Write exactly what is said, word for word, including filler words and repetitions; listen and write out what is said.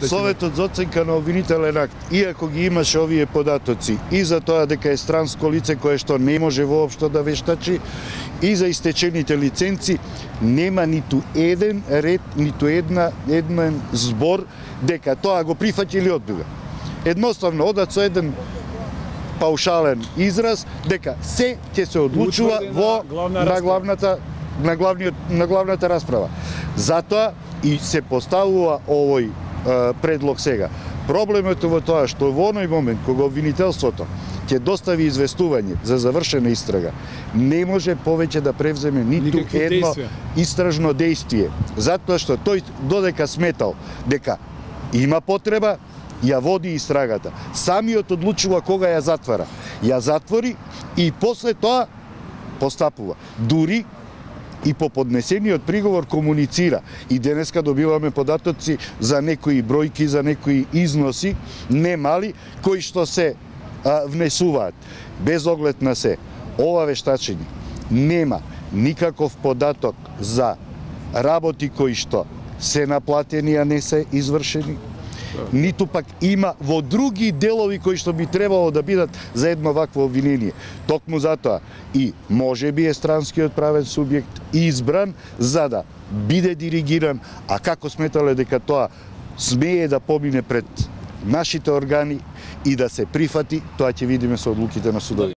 Советот за оценка на обвинителен акт, иако ги имаше овие податоци и за тоа дека е странско лице кое што не може воопшто да вештачи, и за истечените лиценци, нема ниту еден ред, ниту една еден збор дека тоа го прифаќа или одбива. Едноставно одат со еден паушален израз дека се ќе се одлучува во на главната на главниот на главната расправа. Затоа и се поставува овој предлог сега. Проблемот е во тоа што во оној момент кога обвинителството ќе достави известување за завршена истрага, не може повеќе да превземе ниту Никакви едно действия. Истражно действие, затоа што тој додека сметал дека има потреба, ја води истрагата. Самиот одлучува кога ја затвара. Ја затвори и после тоа постапува. Дури и по поднесениот приговор комуницира. И денеска добиваме податоци за некои бројки, за некои износи, не мали, кои што се а, внесуваат. Без оглед на се, ова вештачење нема никаков податок за работи кои што се наплатени, а не се извршени, ниту пак има во други делови кои што би требало да бидат за едно вакво обвинение. Токму затоа и може би е странскиот правен субјект избран за да биде диригиран, а како сметале дека тоа смее да помине пред нашите органи и да се прифати, тоа ќе видиме со одлуките на судови.